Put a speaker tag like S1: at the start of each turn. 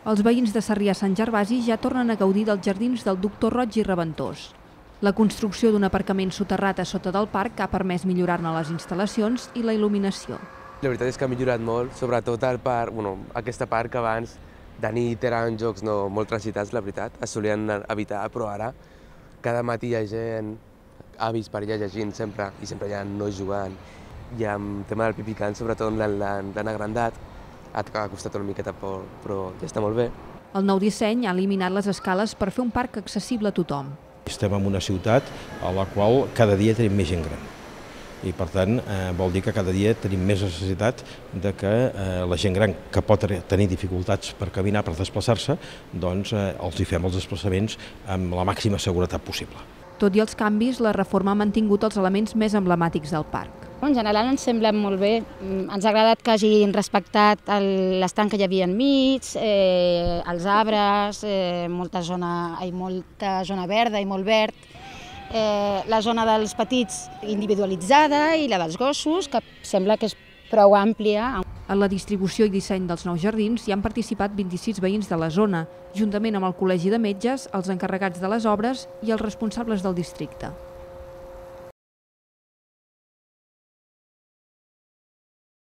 S1: Els veïns de Sarrià-Sant Gervasi ja tornen a gaudir dels jardins del Doctor Roig i Reventós. La construcció d'un aparcament soterrat a sota del parc ha permès millorar-ne les instal·lacions i la il·luminació.
S2: La veritat és que ha millorat molt, sobretot el parc, aquesta part que abans de nit eren jocs molt transitats, la veritat, es solien evitar, però ara cada matí hi ha gent, avis per allà llegint sempre, i sempre hi ha nois jugant. I amb el tema del pipicant, sobretot l'han agrandat, ha costat una miqueta, però ja està molt bé.
S1: El nou disseny ha eliminat les escales per fer un parc accessible a tothom.
S3: Estem en una ciutat a la qual cada dia tenim més gent gran. I per tant vol dir que cada dia tenim més necessitat de que la gent gran que pot tenir dificultats per caminar, per desplaçar-se, doncs els hi fem els desplaçaments amb la màxima seguretat possible.
S1: Tot i els canvis, la reforma ha mantingut els elements més emblemàtics del parc.
S4: En general ens sembla molt bé, ens ha agradat que hagin respectat l'estanc que hi havia enmig, els arbres, molta zona verda i molt verd, la zona dels petits individualitzada i la dels gossos, que sembla que és prou àmplia.
S1: En la distribució i disseny dels nous jardins hi han participat 26 veïns de la zona, juntament amb el Col·legi de Metges, els encarregats de les obres i els responsables del districte.